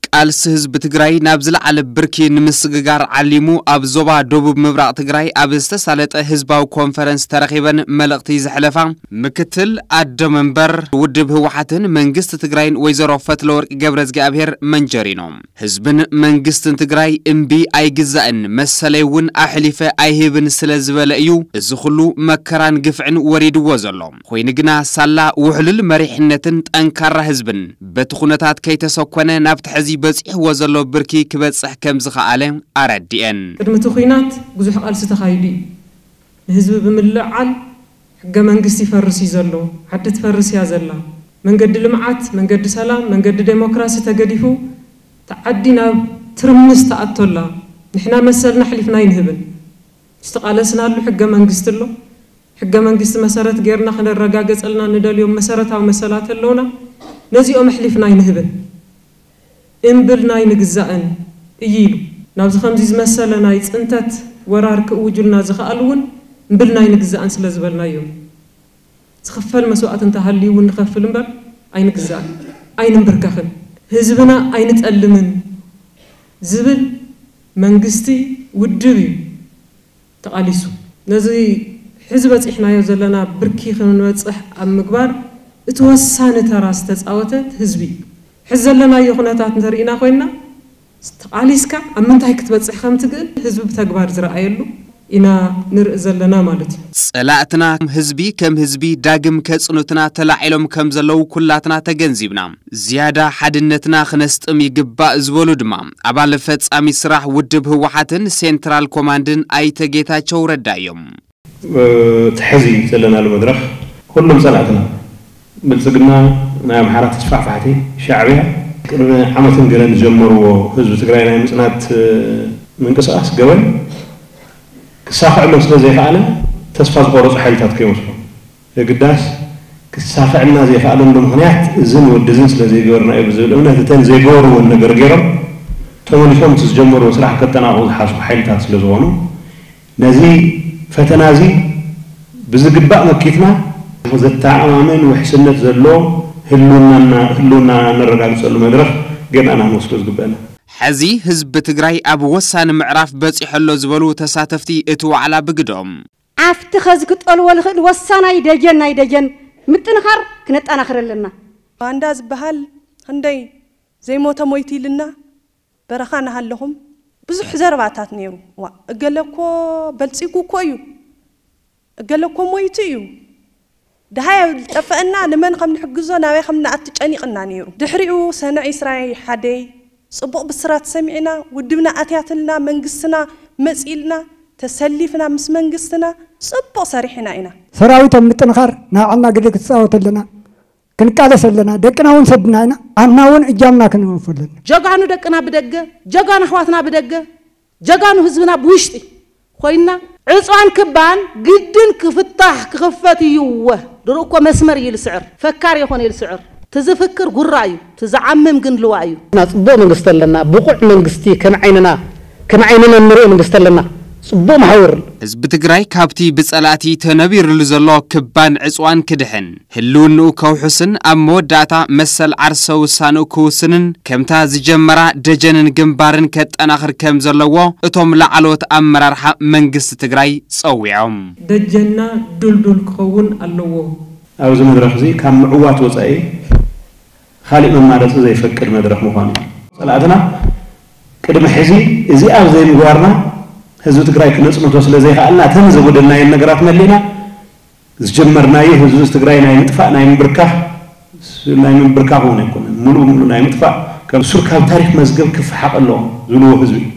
ቃልሲ ህዝቢ ትግራይ ናብ ዝለዓለ ብርኪ ንምስግጋር ዓሊሙ ኣብ ዞባ ደቡብ ምብራቕ ትግራይ ኣብ ዝተሳለጠ ህዝባዊ ኮንፈረንስ ተረኺበን መልእኽቲ ዘሕለፋ ምክትል ኣዶ መንበር ውድብ ህወሓትን መንግስቲ ትግራይን ወይዘሮ ፈትለወርቅ ገብረዝግኣብሄር መንጀሪኖ፣ ህዝብን መንግስትን ትግራይ እምቢ ኣይግዛእን፣ መሰለይ እውን ኣሕሊፈ ኣይህብን ስለ ዝበለ እዩ እዚ ኩሉ መከራን ግፍዕን ወሪድዎ ዘሎ። ኮይኑ ግና ሳላ ውሕሉል መሪሕነትን ጠንካራ ህዝብን በቲ ኩነታት ከይተሰኮነ ናብቲ ሕዚ በፂሕዎ ዘሎ ብርኪ ክበፅሕ ከም ዝኸኣለ ኣረዲኤን። ቅድሚ እቲ ኲናት ብዙሕ ቃልሲ ተኻይዱ እዩ። ንህዝቢ ብምልዕዓል ሕገ መንግስቲ ይፈርስ እዩ ዘሎ፣ ዓዲ ትፈርስ እያ ዘላ፣ መንገዲ ልምዓት፣ መንገዲ ሰላም፣ መንገዲ ዴሞክራሲ ተገዲፉ፣ እቲ ዓዲ ናብ ትርምስ ተኣቶላ፣ ንሕና መሰልና ኣሕሊፍና ኣይንህብን። ዝተቓለስናሉ ሕገ መንግስቲ ኣሎ። ሕገ መንግስቲ መሰረት ጌርና ክነረጋገጸልና ንደልዮም መሰረታዊ መሰላት ኣለውና። ነዚኦም ኣሕሊፍና ኣይንህብን። እምብልና ኣይንግዛእን እዩ ኢሉ። ናብዚ ከምዚ ዝመሰለ ናይ ጽንተት ወራር ክእውጁልና ዝኸኣሉ እውን እምብልና ኣይንግዛእን ስለ ዝበልናዮም። ዝኽፈል መስዋእቲ እንተሃልዩ እውን ንኸፍል እምበር ኣይንግዛእን፣ ኣይንንብርከኽን፣ ህዝብና ኣይንጠልምን ዝብል መንግስቲ ውድብ እዩ ተቓሊሱ። ነዚ ሕዚ በፂሕናዮ ዘለና ብርኪ ክንበፅሕ ኣብ ምግባር እቲ ወሳኒ ተራ ዝተፃወተ ህዝቢ እዩ። ሕዚ ዘለናዮ ኩነታት እንተርኢና ኮይንና ተቓሊስካ ኣብ ምንታይ ክትበፅሕ ከም ትግእል ህዝቢ ብተግባር ዝረኣየሉ ኢና ንርኢ ዘለና ማለት እዩ። ጸላእትና ህዝቢ ከም ህዝቢ ዳግም ከጽኑትና ተላዒሎም ከም ዘለዉ ኩላትና ተገንዚብና፣ ዝያዳ ሓድነትና ክነስጥም ይግባእ ዝበሉ ድማ ኣባል ፈጻሚ ስራሕ ውድብ ህወሓትን ሴንትራል ኮማንድን ኣይተ ጌታቸው ረዳ እዮም። እቲ ሕዚ ዘለናሉ መድረኽ ኩሎም ጸላእትና ብልጽግና፣ ናይ ኣምሓራ ተስፋሕፋሕቲ፣ ሻዕብያ ቅድሚ ዓመትን ገለን ዝጀመርዎ ህዝቢ ትግራይ ናይ ምጽናት ምንቅስቓስ ገበን ክሳኽዐሎም ስለ ዘይከኣለ ተስፋ ዝቆረጹ ሓይልታት ከይመስሎም የግዳስ ክሳኽዐልና ዘይከኣለሉ ምኽንያት እዝን ወዲ እዝን ስለ ዘይገበርና እዩ ብዝብል እምነት እተን ዘይገበርወን ነገር ገይሮም ተመሊሶም እቲ ዝጀመርዎ ስራሕ ከጠናቕቑ ዝሓስቡ ሓይልታት ስለ ዝኾኑ ነዚ ፈተና እዚ ብዝግባእ መኪትና ዘተኣማምን ውሕስነት ዘለዎ ህልውናና ህልውና ነረጋግፀሉ መድረኽ ጌርና ኢና ክንወስዶ ዝግበአና። ሕዚ ህዝቢ ትግራይ ኣብ ወሳኒ ምዕራፍ በፂሑ ኣሎ ዝበሉ ተሳተፍቲ እቲ ዋዕላ ብግደኦም፣ ኣብቲ ኸዚ ክጠልዎ ልኽእል ወሳናይ ደጀን ናይ ደጀን ምጥንኻር ክነጠናኽር ኣለና። ባንዳ ዝበሃል ኽንደይ ዘይሞተ ሞይቱ ኢልና በረኻ እናሃለኹም ብዙሕ ዘረባታት ነይሩ። ዋእ እገለ እኮ በልጺጉ እኮ እዩ፣ እገለ እኮ ሞይቱ እዩ፣ ደሃይ ጠፈአና፣ ንመን ከም ንሕግዞ ናበይ ከም ንኣቱ ጨኒቕና ነይሩ። ድሕሪኡ ሰነ ዒስራ ሓደይ ጽቡቕ ብስራት ሰሚዕና፣ ውድብና ኣትያትልና፣ መንግስትና መጺእልና፣ ተሰሊፍና ምስ መንግስትና ጽቡቕ ሰሪሕና ኢና። ሰራዊት ኣብ ምጥንኻር ናይ ባዕልና ግደ ክትጻወት ኣለና። ክንቃለስ ኣለና። ደቅና እውን ሰድና ኢና። ዓድና እውን እጃምና ክንወፍ ኣለና። ጀጋኑ ደቅና ብደገ፣ ጀጋኑ ኣሕዋትና ብደገ፣ ጀጋኑ ህዝብና ብውሽጢ ኮይንና ዕፅዋን ክባን ግድን ክፍታሕ ክኽፈት እዩ። እወ ድሮ እኮ መስመር እዩ ልስዕር፣ ፈካር የኾነ እዩ ልስዕር። ትዝፍክር ጉራ እዩ፣ ትዝዓምም ግን ልዋ እዩ። ጽቡቕ መንግስቲ ኣለና፣ ብቑዕ መንግስቲ ከም ዓይንና ከም ዓይንና እንሪኦ መንግስቲ ኣለና። ጽቡቕ መሓውር። ህዝቢ ትግራይ ካብቲ ብፀላእቲ ተነቢርሉ ዘሎ ክባን ዕፅዋን ክድሕን፣ ህልውንኡ ከውሕስን ኣብ መወዳእታ መሰል ዓርሰ ውሳንኡ ክውስንን ከምታ ዝጀመራ ደጀንን ግንባርን ከጠናኽር ከም ዘለዎ እቶም ላዕለዎት ኣመራርሓ መንግስቲ ትግራይ ፀዊዖም። ደጀንና ድልዱል ክኸውን ኣለዎ። ኣብዚ መድረኽ እዚ ካብ ምዕዋት ወፃኢ ካሊእ መማረፂ ዘይፈቅድ መድረኽ ምዃኑ እዩ። ፀላእትና ቅድሚ ሕዚ እዚኣ ኣብ ዘይምግባርና ህዝቢ ትግራይ ክነፅንቶ ስለ ዘይከኣልና እተን ዘጎደልናየን ነገራት መሊእና ዝጀመርናዮ ህዝቢ ትግራይ ናይ ምጥፋእ ናይ ምብርካኽ ናይ ምብርካኽ እውን ኣይኮነን፣ ሙሉእ ብሙሉእ ናይ ምጥፋእ ከም ሱር ካብ ታሪኽ መዝገብ ክፈሓቕ ኣለዎ ዝብልዎ ህዝቢ እዩ።